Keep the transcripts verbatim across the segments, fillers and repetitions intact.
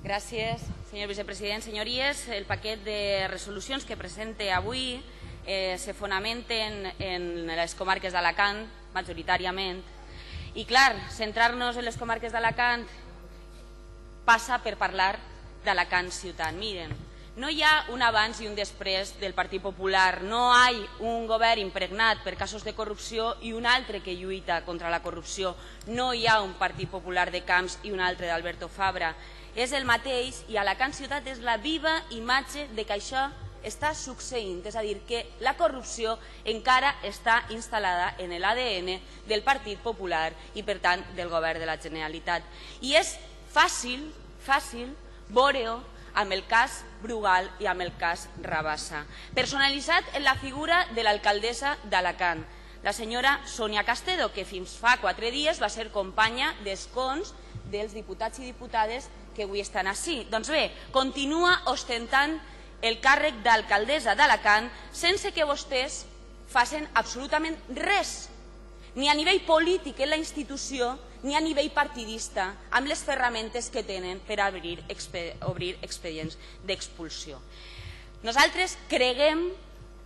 Gràcies, senyor vicepresident. Senyories, el paquet de resolucions que presente avui eh, se fonamenten en les comarques d'Alacant, majoritàriament. I, clar, centrar-nos en les comarques d'Alacant passa per parlar d'Alacant ciutat. Miren, no hi ha un abans i un després del Partit Popular. No hi ha un govern impregnat per casos de corrupció i un altre que lluita contra la corrupció. No hi ha un Partit Popular de Camps i un altre d'Alberto Fabra. És el mateix i Alacant ciutat és la viva imatge de que això està succeint. És a dir, que la corrupció encara està instal·lada en l'A D N del Partit Popular i, per tant, del govern de la Generalitat. I és fàcil, fàcil, veure-ho amb el cas Brugal i amb el cas Rabassa, personalitzat en la figura de l'alcaldessa d'Alacant, la senyora Sonia Castedo, que fins fa quatre dies va ser companya d'escons dels diputats i diputades que avui estan ací. Doncs bé, continua ostentant el càrrec d'alcaldessa d'Alacant sense que vostès facin absolutament res, ni a nivell polític en la institució, ni a nivell partidista, amb les ferramentes que tenen per obrir expedients d'expulsió. Nosaltres creguem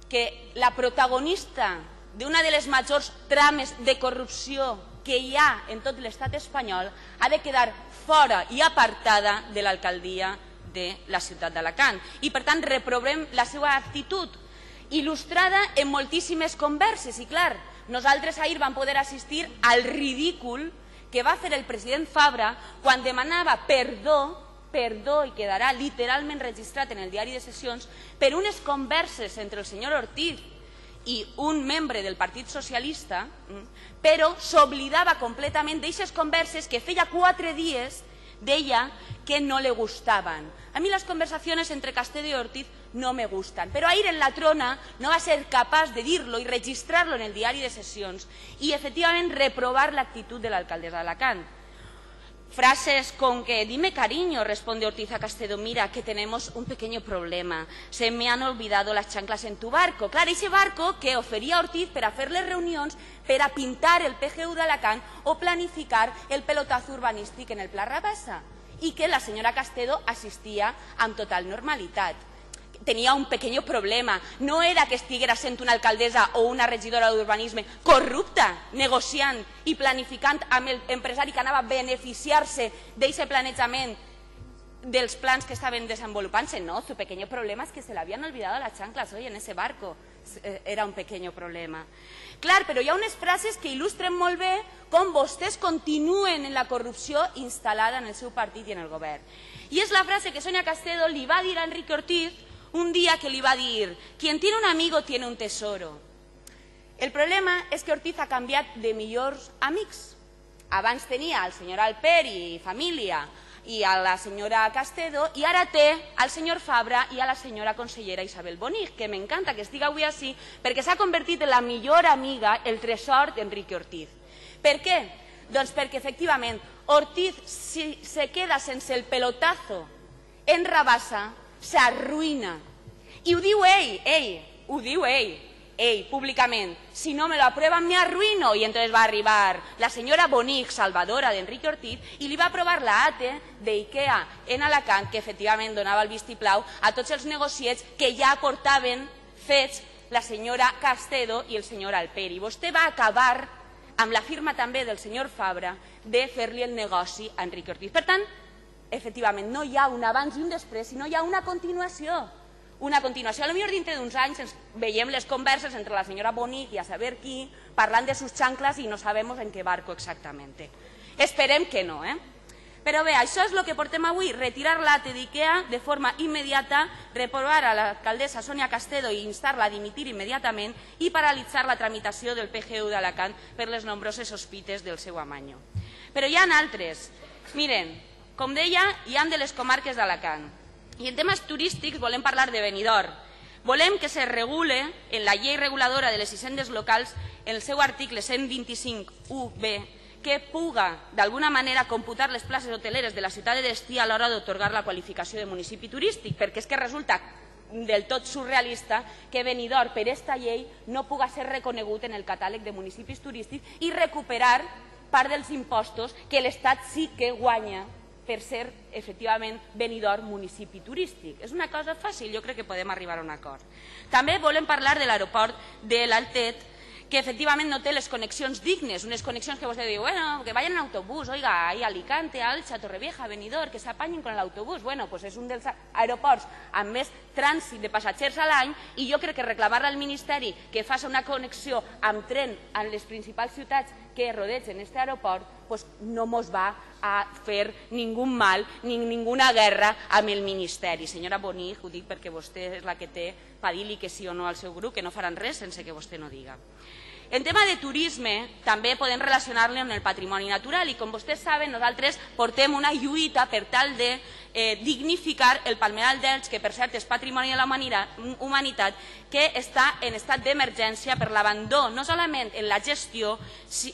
que la protagonista d'una de les majors trames de corrupció que hi ha en tot l'estat espanyol ha de quedar fora i apartada de l'alcaldia de la ciutat d'Alacant. I, per tant, reprovem la seva actitud, il·lustrada en moltíssimes converses. I, clar, nosaltres ahir vam poder assistir al ridícul que va fer el president Fabra quan demanava perdó, perdó, i quedarà literalment registrat en el diari de sessions, per unes converses entre el senyor Ortiz i un membre del Partit Socialista, però s'oblidava completament d'aixes converses que feia quatre dies deia que no le gustaban. A mí las conversaciones entre Castedo y Ortiz no me gustan, pero ahir en la trona no va ser capaç de dir-lo i registrar-lo en el diari de sessions i, efectivament, reprovar l'actitud de l'alcaldessa d'Alacant. Frases con que, dime cariño, responde Ortiz a Castedo, mira que tenemos un pequeño problema, se me han olvidado las chanclas en tu barco. Clar, ese barco que oferia Ortiz per a fer les reunions, per a pintar el P G U d'Alacant o planificar el pelotazo urbanístic en el Pla Rabassa, i que la senyora Castedo assistia amb total normalitat. Tenia un pequeño problema, no era que estiguera sent una alcaldessa o una regidora d'urbanisme corrupta, negociant i planificant amb l'empresari que anava a beneficiar-se d'aquest planejament dels plans que estaven desenvolupant-se. No, su pequeño problema es que se le habían olvidado las chanclas hoy en ese barco. Era un pequeño problema. Clar, però hi ha unes frases que il·lustren molt bé com vostès continuen en la corrupció instal·lada en el seu partit i en el govern. I és la frase que Sonia Castedo li va dir a Enrique Ortiz un dia que li va dir «Quien tiene un amigo tiene un tesoro». El problema és que Ortiz ha canviat de millors amics. Abans tenia el senyor Alperi i família i a la senyora Castedo i ara té al senyor Fabra i a la senyora consellera Isabel Bonig, que m'encanta que estigui avui així perquè s'ha convertit en la millor amiga, el tresor d'Enrique Ortiz. Per què? Doncs perquè, efectivament, Ortiz, si se queda sense el pelotazo en Rabassa, s'arruïna. I ho diu ell, ell, ho diu ell, ell, públicament. Si no me lo aprueban, me arruïno. I entonces va arribar la senyora Bonig, salvadora d'Enrique Ortiz, i li va aprovar la A T E d'IKEA en Alacant, que efectivament donava el vistiplau a tots els negociets que ja portaven fets la senyora Castedo i el senyor Alperi. Vostè va acabar amb la firma també del senyor Fabra de fer-li el negoci a Enrique Ortiz. Per tant, efectivament, no hi ha un abans i un després, sinó hi ha una continuació. Una continuació. A lo millor dintre d'uns anys ens veiem les converses entre la senyora Bonig i a saber qui parlant de sus chanclas i no sabemos en qué barco exactamente. Esperem que no, eh? Però bé, això és el que portem avui, retirar l'A T E d'IKEA de forma immediata, reprovar a l'alcaldessa Sonia Castedo i instar-la a dimitir immediatament i paralitzar la tramitació del P G U d'Alacant per les nombroses sospites del seu amanyo. Però hi ha altres. Miren, com deia, hi ha de les comarques d'Alacant. I en temes turístics volem parlar de Benidorm. Volem que se regule en la llei reguladora de les hisendes locals en el seu article cent vint-i-cinc u be que puga d'alguna manera computar les places hoteleres de la ciutat de destí a l'hora d'otorgar la qualificació de municipi turístic, perquè és que resulta del tot surrealista que Benidorm per esta llei no puga ser reconegut en el catàleg de municipis turístics i recuperar part dels impostos que l'Estat sí que guanya per ser, efectivament, Benidorm municipi turístic. És una cosa fàcil, jo crec que podem arribar a un acord. També volem parlar de l'aeroport de l'Altet, que efectivament no té les connexions dignes, unes connexions que vostè diu, bueno, que vayan en autobús, oiga, ahí a Alicante, a Alcha, a Torrevieja, a Benidorm, que s'apanyin con l'autobús. Bueno, pues és un dels aeroports amb més trànsit de passatgers a l'any i jo crec que reclamar al Ministeri que faci una connexió amb tren en les principals ciutats que rodegen aquest aeroport pues no mos va a fer ningú mal ni ninguna guerra amb el Ministeri. Senyora Bonig, ho dic perquè vostè és la que té per dir-li que sí o no al seu grup, que no faran res sense que vostè no diga. En tema de turisme, també podem relacionar-lo amb el patrimoni natural i, com vostès saben, nosaltres portem una lluita per tal de eh, dignificar el Palmeral d'Elx, que per cert és patrimoni de la humanitat, que està en estat d'emergència per l'abandó, no solament en la gestió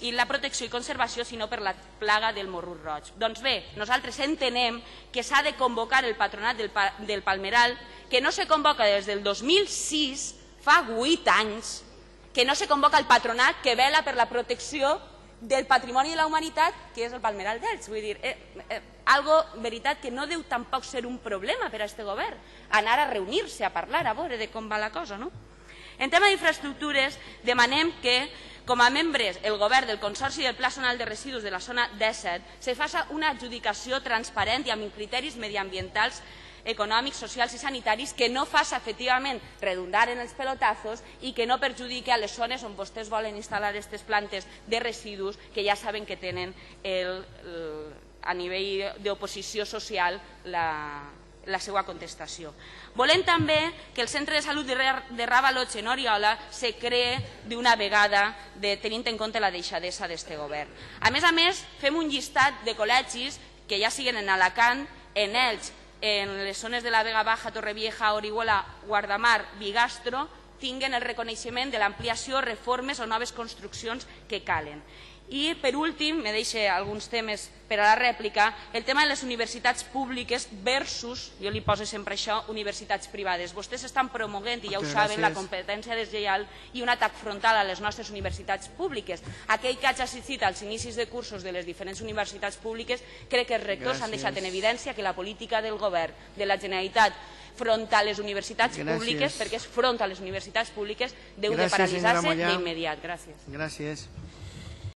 i la protecció i conservació, sinó per la plaga del morrut roig. Doncs bé, nosaltres entenem que s'ha de convocar el patronat del, pa del Palmeral, que no se convoca des del dos mil sis, fa vuit anys, que no se convoca el patronat que vela per la protecció del patrimoni de la humanitat, que és el Palmeral d'Elx. Vull dir, eh, eh, algo, veritat, que no deu tampoc ser un problema per a aquest govern, anar a reunir-se, a parlar, a veure de com va la cosa, no? En tema d'infraestructures, demanem que, com a membres, el govern del Consorci del Pla Zonal de Residus de la zona disset se faci una adjudicació transparent i amb criteris mediambientals, econòmics, socials i sanitaris, que no faci efectivament redundar en els pelotazos i que no perjudiqui a les zones on vostès volen instal·lar aquestes plantes de residus que ja saben que tenen el, el, a nivell d'oposició social la, la seva contestació. Volem també que el centre de salut de Ravalotge en Oriola se cree d'una vegada, de, tenint en compte la deixadesa d'aquest govern. A més a més, fem un llistat de col·legis que ja siguen en Alacant, en Elx, en les zones de la Vega Baja, Torrevieja, Orihuela, Guardamar, Bigastro, tinguen el reconeixement de l'ampliació, reformes o noves construccions que calen. I, per últim, me deixo alguns temes per a la rèplica, el tema de les universitats públiques versus, jo li poso sempre això, universitats privades. Vostès estan promoguent, i ja ho saben, la competència deslleial i un atac frontal a les nostres universitats públiques. Aquell que hagi assistit als inicis de cursos de les diferents universitats públiques, crec que els rectors han deixat en evidència que la política del govern de la Generalitat front a les universitats públiques, perquè és front a les universitats públiques, deu de paralitzar-se d'immediat. Gràcies. Gràcies.